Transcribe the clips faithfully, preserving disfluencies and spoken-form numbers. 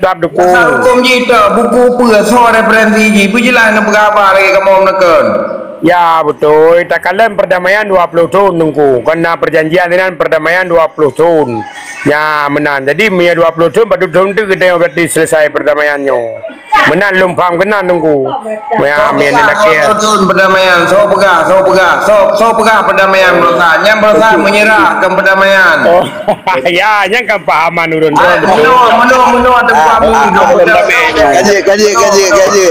Dap duku. Asal hukum jih tu, buku peue, soe referensi jih, beujeulaih neupeugah haba lagèe kamoe meunekon. Ya, beutôi. Takalon perdamaian dua puluh thon, Teungku. Kon na perjanjian inan perdamaian dua puluh thon. Ya, meunan. Jadi, meunyoe dua puluh thon, padub thon teuk geutanyoe berarti selesai perdamaian nyoe. Meunan lôn paham keunan, Teungku. Ya, meunan lakèe. Soe thon perdamaian, soe peugah, soe peugah, soe, soe peugah perdamaian beurasa. Nyan beurasa meunyeurah keu perdamaian. Oh. Ya, nyan kan pahaman ureueng droe. Ah, beutôi. Meunoe, meunoe, meunoe, Teungku Amri, ah, ah, lôn ah, peugah. Kaji, kaji, kaji, kaji.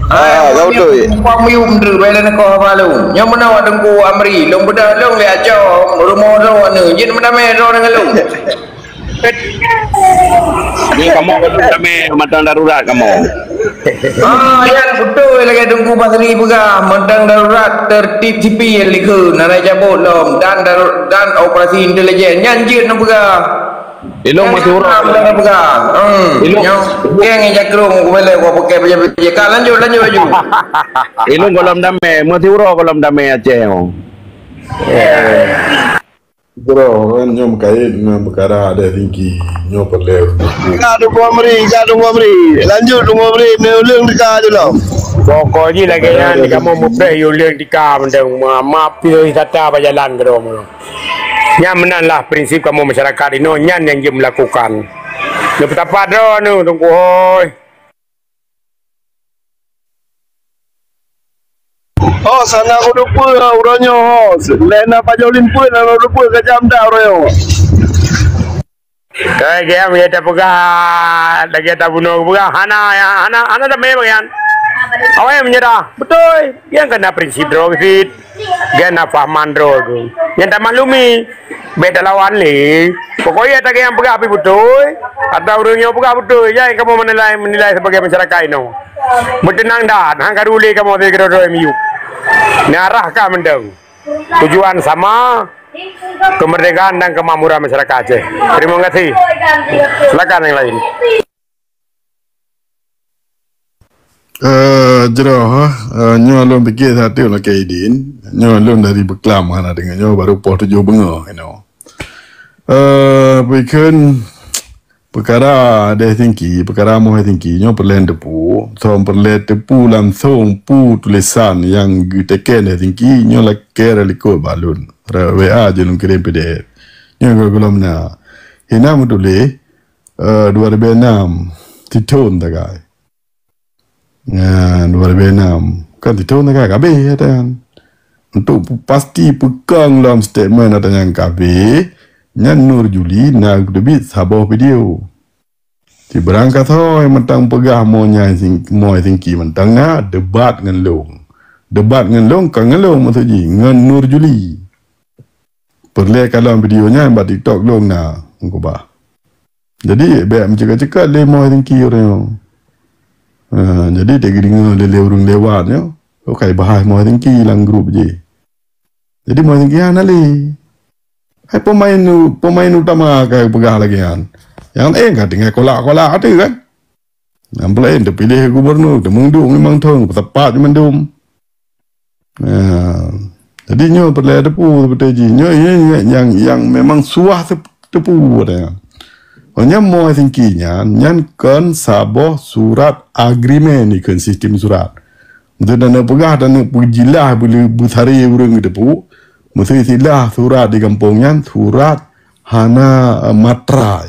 Ah, ah, beutôi. Teungku Amri, beutôi, bèk lé neukoh haba lôn. Nyoe meunoe Teungku Amri, lôn beudôh lôn lé Aceh, rumoh droe nyoe. Jeuet meudamé droe ngon lôn. Ni kamoe gohlom damé mantong darurat kamoe. Ah, nyan beutôi lagèe Teungku Basri peugah, mantong darurat tertib sipil likheun, hana jabot lom dan daru-, dan operasi intelijen. Nyan jeuet neupeugah. Ilôn meusiuroe. Nyan jeuet neupeugah. Hmm. Ilôn. Nyoe, geng nyan jakrong, ku bela, ku pakai baju-baju. Ka, lanjut, lanjut laju. Ilôn gohlom damé, meusiuroe gohlom damé Aceh nyoe. Droe kan nyoe meukaét ngon peukara Aceh Tinggi, nyoe peureulèe. Ka Teungku Amri, ka Teungku Amri. Lanjut Teungku Amri, neuleueng teuka jih lom. Pokok jih lagèe nyan, kamoe mupreh yue leueng teuka mantong, ma-, maaf pih wisata bak jalan keudroe meunoe. Nyan meunan lah prinsip kamoe masyarakat inoe, nyan nyang jeuet meulakukan. Neupeutapat droe nyoe, Teungku hôi. Oh, sana ku dupeue ha uroe nyoe ho. Lé na pajoh limpeuet na dupeue ka jam dah uroe nyoe. Kai gaya meunyoe tapeugah lagèe tabunoe geupeugah hana, hana, hana damé bagian. Awai meunyeurah. Beutôi. Nyang kana prinsip droe cit. Gèt na pahaman droe tu. Nyang tamaklumi, bèk talawan lé. Pokok jih ata nyang peugah pih beutôi, ata ureueng nyoe peugah beutôi, jai kamoe meunilai, meunilai sebagai masyarakat inoe. Meuteunang that, han karu lé kamoe sigoe droe miyueb. Neuarah ka mantong. Tujuan sama, kemerdekaan dan kemakmuran masyarakat Aceh. Terima kasih. Silakan yang lain. Eh, jroh, eh, nyoe lôn pike satu lakèe idin. Nyoe lôn dari Beuklam hana deungoe nyoe baru poh tujoh beungoh inoe. Eh, peukheun peukara Aceh Tinggi, peukara Moe Tinggi nyoe peureulèe teupeu, som peureulèe teupeu langsong peue tulisan nyang geuteken Aceh Tinggi nyoe lakèe likot bak lôn. Re-, W A jih lôn kirém P D F. Nyoe gohlom na. Hina meutuléh, eh, dua ribu enam, sithon tagai. Nyan, dua ribu enam. Kan sithon tagai ka abéh ata nyan. Untuk pasti peukong lom statement ata nyan ka abéh, nyan Nur Juli na geuteubiet saboh video. Sibarang kasoe mantong peugah Moe Tinggi, Moe Tinggi mantong na debat ngon lôn. Debat ngon lôn, kon ngon lôn maksud jih, ngon Nur Juli. Peureulèe kalon video nyan bak TikTok lôn na, meukeubah. Jadi, bèk meuceuka-ceuka lé Moe Tinggi uroe nyoe. Ha, jadi, teuk geudeungoe lé, lé ureueng lewat nyoe, oh, ka ibahas Moe Tinggi lam grup jih. Jadi, Moe Tinggi hana lé. Hai pemain u-, pemain utama ka peugah lagèe nyan. Nyang laén ka tinggai kolak-kolak ateueh kan. Nyang peulaén teupiléh gubunur, teumeung duek limong thon, peusapat mandum. Nah, jadi nyoe peureulèe teupeu seperti jih. Nyoe, nyoe, nyoe nyang, nyang memang suah teu-, teupeu ata nyan. Oh, nyan Moe Tinggi nyan, nyan kon saboh surat agreement dikeue sistem surat. Beutôi dan peugah dan peujilah beu-, beusaré ureueng teupeu, meusti istilah surat di gampông nyan surat hana, eh, matrai.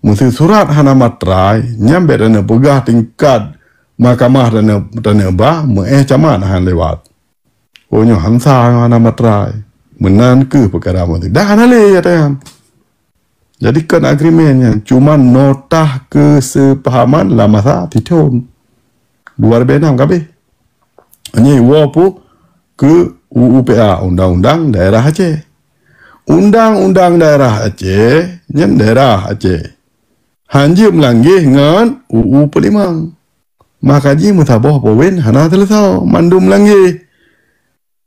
Meuseu surat hana matrai, nyan bèk taneuk peugah tingkat mahkamah taneuk, taneuk ba, meu'èh camat han lewat. Oh, nyoe han sah, hana matrai. Meunan kheueh peukara meuseu. Dah hana lé ata nyan. Jadi, kon agreement nyan, cuma nota keuseupahaman lam masa sithon. Dua ribu enam ka abéh. Nyan iwoe peue keu U U P A, Undang-Undang Daerah Aceh. Undang-Undang Daerah Aceh, nyan daerah Aceh. Han jeuet meulanggeh ngon U U peuet limong. Maka jih meusaboh poin hana seuleusoe, mandum meulanggeh.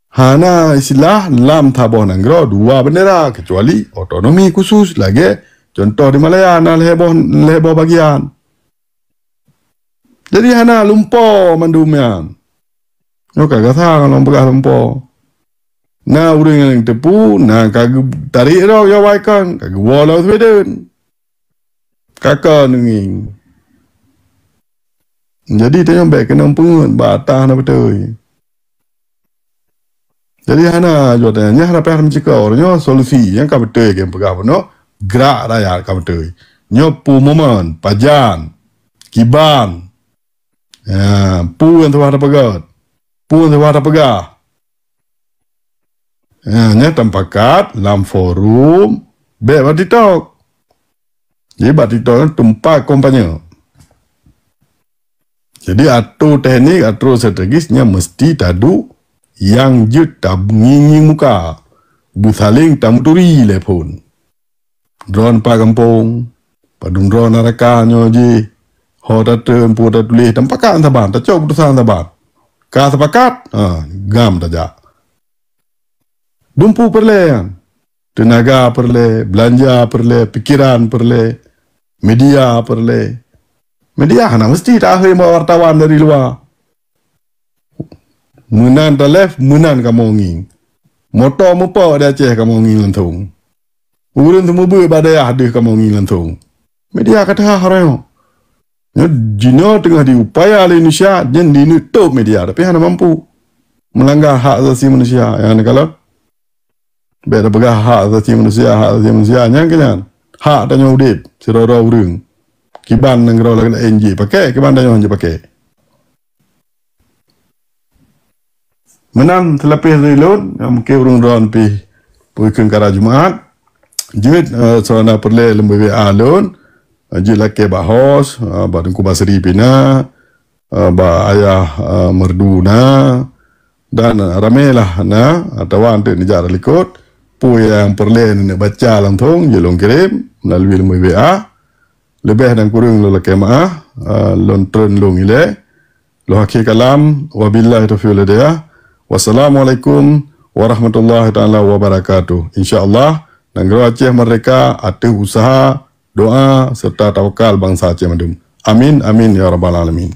Hana istilah lam saboh nanggroe dua bendera, kecuali otonomi khusus lagèe contoh di Malaya na lhèe boh, lhèe boh bagian. Jadi hana lumpoe mandum nyan. Nyoe ka gasa ngon lôn peugah lumpoe. Na ureueng nyang teupeu, na ka geutarek droe Joe Biden, ka geuwoe lam Sweden. Ka kon ngieng. Jadi tanyoe bèk keunong peungeut bak ata hana beutôi. Jadi hana jaweueb tanyoe, nyan hana payah meucikô. Nyoe solusi nyang ka beutôi nyang peugah bunoe, grak rakyat ka beutôi. Nyoe peue momen, pajan, kiban. Ya, peue nyang tuha tapeugah? Peue nyang tuha tapeugah? Ya, nyan tapakat lam forum, bèk bak TikTok. Jadi bak TikTok nyan teumpat kampanye. Jadi atô teknik, atô strategis nyan meusti taduek nyang jeuet tangieng-ngieng muka. Beusaléng tameuturi lé phôn. Droeneuh pat gampông, padum droeneuh na rakan nyoe jih, ho tatreun, peue tatuléh, tapakat saban, tacok keuputosan saban. Ka sepakat, ha, gam tajak. Dumpeue peureulèe nyan. Teunaga peureulèe, beulanja peureulèe, pikeran peureulèe, media peureulèe. Media hana meusti takhém bak wartawan dari luwa. Meunan talèe, meunan kamoe ngieng. Moto meupok di Aceh kamoe ngieng langsông. Ureueng seumeubeuet bak dayah deuh kamoe ngieng langsông. Media ka teuhah uroe nyoe. Nyoe jinoe teungoh diupaya lé Indonesia, nyan dineuk tôp media, tapi hana mampu. Meulanggar hak asasi manusia nyang hana kalon. Bèk tapeugah hak asasi manusia, hak asasi manusia, nyan keuh nyan. Hak tanyoe udép, sidroe-droe ureueng. Kiban nanggroe laén jipakèk, kiban tanyoe han jipakèk. Meunan seulapeh dari lôn, mungken ureueng droe pih peue kheun kara Jumaat. Jeuet, eh, soe na peureulèe lôn bri W A lôn, eh, jeuet lakèe bak host, eh, bak Teungku Basri pih na, eh, bak Ayah, eh, Merdu na, dan ramè lah na, atawa eunteuk neujak rot likot, peue nyang peureulèe neuneuk baca langsông, jeuet lôn kirém meulalu lôn bri W A. Leubeh dan kureueng lôn lakèe meu'ah, eh, lôn treun lôn ilèe. Lôn akhé kalam, wabillahi taufiq wal hidayah. Wassalamualaikum warahmatullahi taala wabarakatuh. Insya Allah, nanggroe Aceh merdeka ateueh useuha, doa, serta tawakal bansa Aceh mandum. Amin, amin, ya rabbal alamin.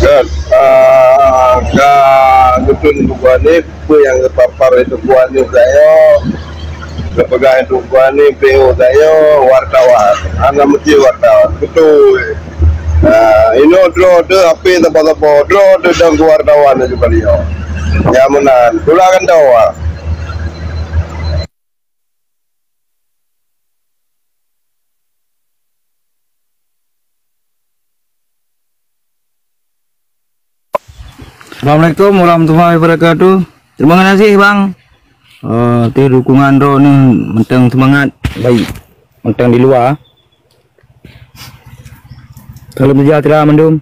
Kan, ah, ka geutreun buku Hanif, peue nyang geupapar lé Teungku Hanif tanyoe, geupeugah lé Teungku Hanif P O tanyoe, wartawan. Hana meusti wartawan. Beutôi. Ah, inoe droe teuh H P saboh-saboh, droe teuh dan keu wartawan laju kali nyoe. Nyang meunan, tula kantô, ah. Assalamualaikum warahmatullahi wabarakatuh. Terima kasih, Bang. Eh, teuh dukungan droeneuh mantong seumangat, baik mantong di luwa. Salam sejahtera mandum.